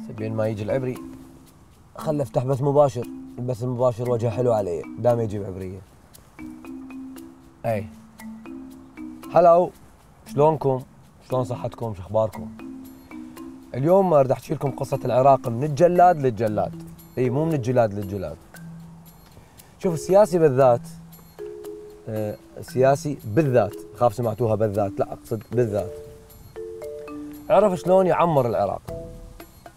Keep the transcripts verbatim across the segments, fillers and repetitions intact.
بين ما يجي العبري خل افتح بث مباشر، البث المباشر وجهه حلو علي دام يجيب عبريه. اي هلو، شلونكم؟ شلون صحتكم؟ شو اخباركم؟ اليوم اريد احكي لكم قصه العراق من الجلاد للجلاد. اي مو من الجلاد للجلاد. شوف السياسي بالذات، آه السياسي بالذات، خاف سمعتوها بالذات، لا اقصد بالذات، عرف شلون يعمر العراق.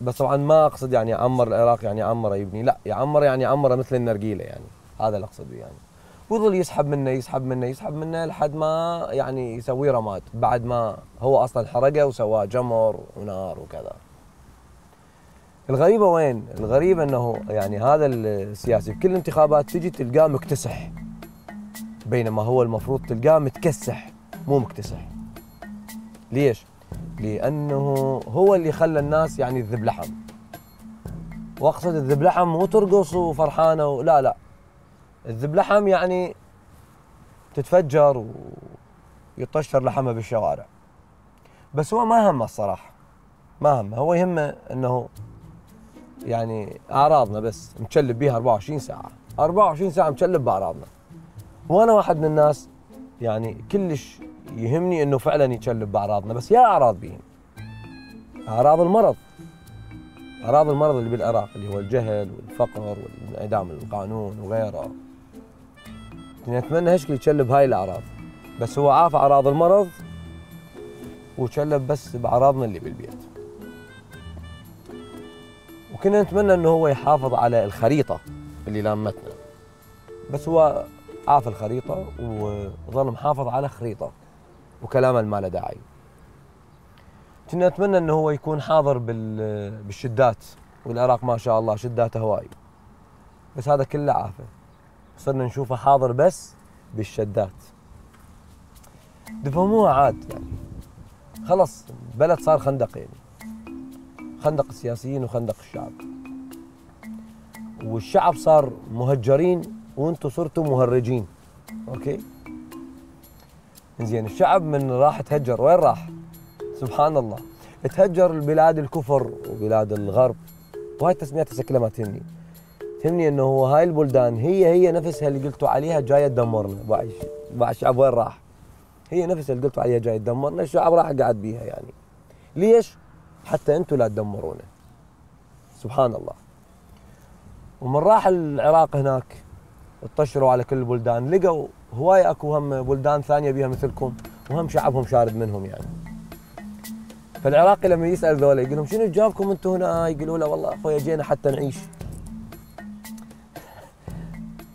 بس طبعا ما اقصد يعني يعمر العراق يعني يعمره يبني، لا، يعمر يعني يعمره مثل النرجيله، يعني هذا اللي اقصده يعني. ويظل يسحب منه يسحب منه يسحب منه لحد ما يعني يسوي رماد، بعد ما هو اصلا حرقه وسواه جمر ونار وكذا. الغريبه وين؟ الغريبه انه يعني هذا السياسي بكل الانتخابات تجي تلقاه مكتسح، بينما هو المفروض تلقاه متكسح مو مكتسح. ليش؟ لانه هو اللي خلى الناس يعني تذب لحم. واقصد الذب لحم مو ترقص وفرحانه، لا لا، الذب لحم يعني تتفجر ويطشر لحمه بالشوارع. بس هو ما همه الصراحه، ما همه، هو يهمه انه يعني اعراضنا بس متشلب بيها أربعة وعشرين ساعه، أربعة وعشرين ساعه متشلب باعراضنا. وانا واحد من الناس يعني كلش يهمني انه فعلا يتشلب باعراضنا، بس يا اعراض بيهم، اعراض المرض، اعراض المرض اللي بالعراق اللي هو الجهل والفقر وانعدام القانون وغيره. نتمنى هشكل يتشلب هاي الاعراض، بس هو عاف اعراض المرض وتشلب بس باعراضنا اللي بالبيت. وكنا نتمنى انه هو يحافظ على الخريطه اللي لامتنا، بس هو عاف الخريطه وظل محافظ على خريطه وكلامه ما له داعي. كنا نتمنى انه هو يكون حاضر بالشدات، والعراق ما شاء الله شداته هواي، بس هذا كله عافه، صرنا نشوفه حاضر بس بالشدات. تفهموها عاد يعني، خلص البلد صار خندق، يعني خندق السياسيين وخندق الشعب، والشعب صار مهجرين وانتم صرتوا مهرجين. اوكي زين، الشعب من راح تهجر وين راح؟ سبحان الله، تهجر البلاد الكفر وبلاد الغرب، وهاي التسميات هسه كلها ما تهمني. تهمني انه هو هاي البلدان هي هي نفسها اللي قلتوا عليها جايه تدمرنا. باع الشعب وين راح؟ هي نفسها اللي قلتوا عليها جايه تدمرنا، الشعب راح قاعد بيها يعني. ليش؟ حتى انتم لا تدمرونا. سبحان الله. ومن راح العراق هناك اطشروا على كل البلدان، لقوا هواي اكو هم بلدان ثانيه بيها مثلكم وهم شعبهم شارد منهم يعني. فالعراقي لما يسال ذولا يقول لهم شنو جابكم انتم هنا؟ يقولوا له والله اخويا جينا حتى نعيش.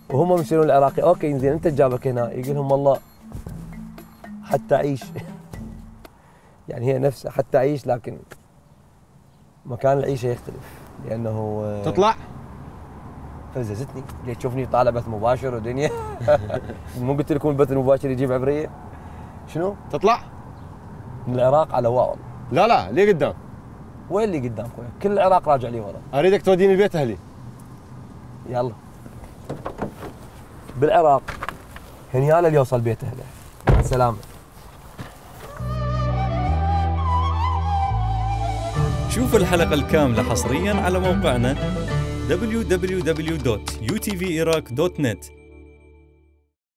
وهم يسالون العراقي اوكي زين انت جابك هنا؟ يقول لهم والله حتى اعيش. يعني هي نفسها حتى اعيش، لكن مكان العيشه يختلف لانه تطلع فززتني. ليش تشوفني طالع بث مباشر ودنيا؟ مو قلت لكم البث المباشر يجيب عبريه؟ شنو؟ تطلع من العراق على واو. لا لا ليه قدام؟ وين اللي قدام خويا؟ كل العراق راجع لي ورا. اريدك توديني البيت اهلي. يلا بالعراق هنياله اللي يوصل بيت اهله. مع السلامه. شوف الحلقة الكاملة حصرياً على موقعنا دبليو دبليو دبليو دوت يو تي في إيراك دوت نت.